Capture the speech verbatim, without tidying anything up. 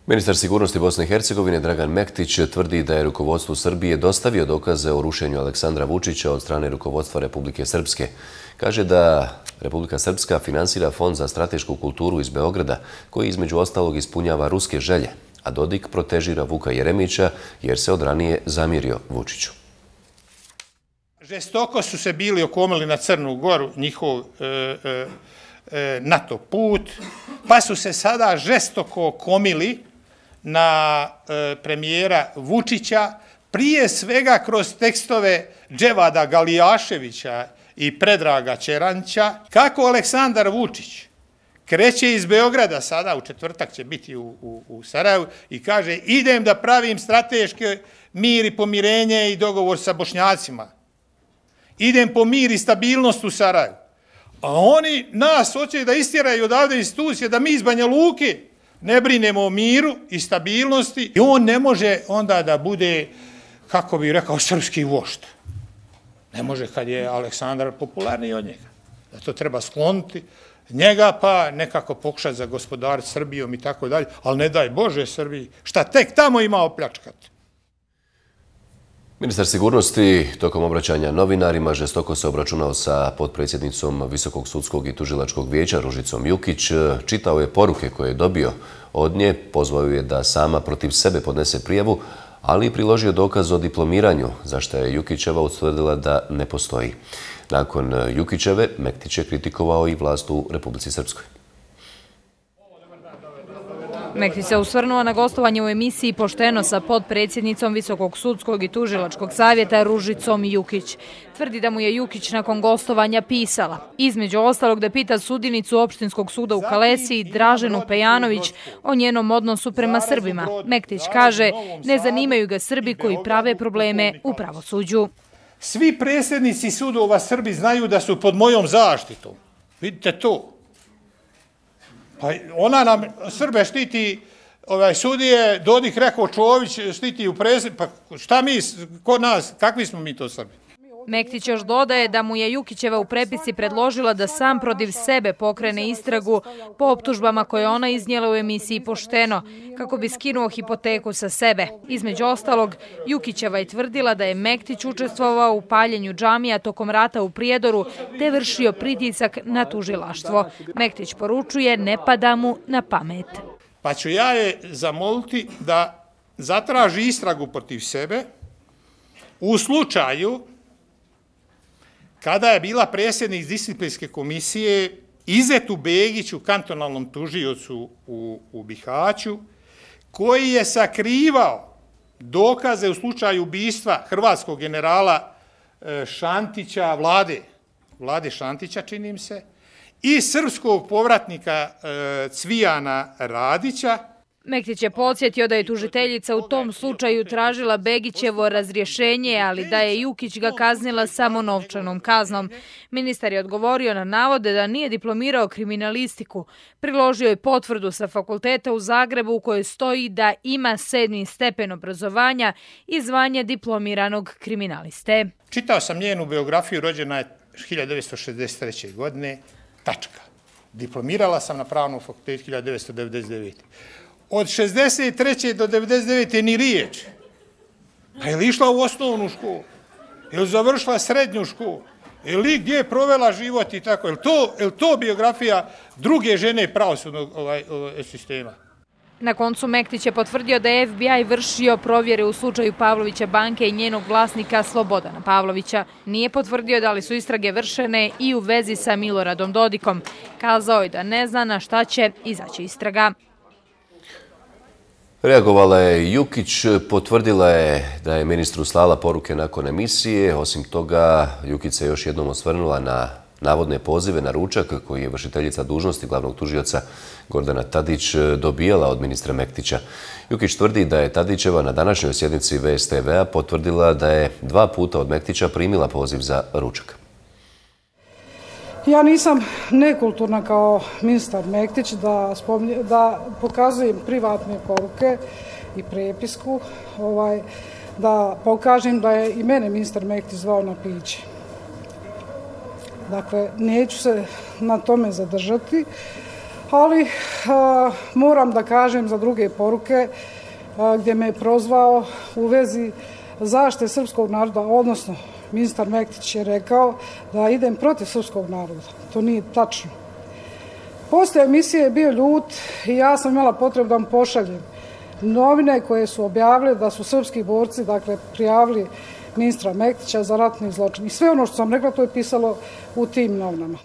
Ministar sigurnosti Bosne i Hercegovine Dragan Mektić tvrdi da je rukovodstvu Srbije dostavio dokaze o rušenju Aleksandra Vučića od strane rukovodstva Republike Srpske. Kaže da Republika Srpska finansira Fond za stratešku kulturu iz Beograda, koji između ostalog ispunjava ruske želje, a Dodik protežira Vuka Jeremića jer se od ranije zamjerio Vučiću. Žestoko su se bili okomili na Crnu Goru, njihov e, e, NATO put, pa su se sada žestoko okomili na e, premijera Vučića, prije svega kroz tekstove Dževada Galijaševića i Predraga Čeranća, kako Aleksandar Vučić kreće iz Beograda, sada u četvrtak će biti u, u, u Sarajevu, i kaže idem da pravim strateški mir i pomirenje i dogovor sa Bošnjacima. Idem po mir i stabilnost u Sarajevu. A oni nas hoće da istjeraju odavde institucije, da mi iz Banja Luke ne brinemo o miru i stabilnosti. I on ne može onda da bude, kako bih rekao, srpski vošt. Ne može kad je Aleksandar popularniji od njega. Da to treba skloniti njega, pa nekako pokušati za gospodar Srbijom i tako dalje. Ali ne daj Bože Srbiji, šta tek tamo ima opljačkati. Ministar sigurnosti tokom obraćanja novinarima žestoko se obračunao sa potpredsjednicom Visokog sudskog i tužilačkog vijeća Ružicom Jukić. Čitao je poruke koje je dobio od nje, pozvao je da sama protiv sebe podnese prijavu, ali i priložio dokaz o diplomiranju, za što je Jukićeva utvrdila da ne postoji. Nakon Jukićeve, Mektić je kritikovao i vlast u Republici Srpskoj. Mektić se osvrnuo na gostovanje u emisiji Pošteno sa potpredsjednicom Visokog sudskog i tužilačkog savjeta Ružicom Jukić. Tvrdi da mu je Jukić nakon gostovanja pisala, između ostalog da pita sudinicu Opštinskog suda u Kalesiji Draženu Pejanović o njenom odnosu prema Srbima. Mektić kaže, ne zanimaju ga Srbi koji prave probleme u pravosuđu. Svi predsjednici sudova Srbi znaju da su pod mojom zaštitom. Vidite to. Pa ona nam Srbe štiti, ovaj, sudije, Dodik rekao Čović štiti u predsjednici, pa šta mi, kod nas, kakvi smo mi to Srbi? Mektić još dodaje da mu je Jukićeva u prepisci predložila da sam protiv sebe pokrene istragu po optužbama koje ona iznijela u emisiji Pošteno, kako bi skinuo hipoteku sa sebe. Između ostalog, Jukićeva je tvrdila da je Mektić učestvovao u paljenju džamija tokom rata u Prijedoru te vršio pritisak na tužilaštvo. Mektić poručuje, ne pada mu na pamet. Pa ću ja je zamoliti da zatraži istragu protiv sebe u slučaju kada je bila predsjednik disciplinske komisije Izetu Begiću, kantonalnom tužiocu u, u Bihaću, koji je sakrivao dokaze u slučaju ubistva hrvatskog generala Šantića, Vlade, Vlade Šantića, činim se, i srpskog povratnika Cvijana Radića. Mektić je podsjetio da je tužiteljica u tom slučaju tražila Begićevo razrješenje, ali da je Jukić ga kaznila samo novčanom kaznom. Ministar je odgovorio na navode da nije diplomirao kriminalistiku. Priložio je potvrdu sa fakulteta u Zagrebu u kojoj stoji da ima sedmi stepen obrazovanja i zvanje diplomiranog kriminaliste. Čitao sam njenu biografiju, rođena je hiljadu devetsto šezdeset treće. godine, tačka. Diplomirala sam na pravnom fakultetu hiljadu devetsto devedeset devete. Od šezdeset treće do devedeset devete ni riječ. Pa je li išla u osnovnu školu? Je li završila srednju školu? Je li gdje je provela život i tako? Je li to, je li to biografija druge žene pravosudnog ovaj, ovaj, sistema? Na koncu Mektić je potvrdio da je F B I vršio provjere u slučaju Pavlovića banke i njenog vlasnika Slobodana Pavlovića. Nije potvrdio da li su istrage vršene i u vezi sa Miloradom Dodikom. Kazao je da ne zna na šta će izaći istraga. Reagovala je Jukić, potvrdila je da je ministru slala poruke nakon emisije. Osim toga, Jukić se još jednom osvrnula na navodne pozive na ručak koji je vršiteljica dužnosti glavnog tužioca Gordana Tadić dobijala od ministra Mektića. Jukić tvrdi da je Tadićeva na današnjoj sjednici V S T V-a potvrdila da je dva puta od Mektića primila poziv za ručak. Ja nisam nekulturna kao ministar Mektić da, spomnje, da pokazujem privatne poruke i prepisku, ovaj, da pokažem da je i mene ministar Mektić zvao na piće. Dakle, neću se na tome zadržati. ali a, moram da kažem za druge poruke a, gdje me je prozvao u vezi zaštite srpskog naroda, odnosno ministar Mektić je rekao da idem protiv srpskog naroda. To nije tačno. Posle emisije je bio ljut i ja sam imala potrebu da vam pošaljem novine koje su objavile da su srpski borci, dakle, prijavili ministra Mektića za ratni zločin. I sve ono što sam rekla, to je pisalo u tim novinama.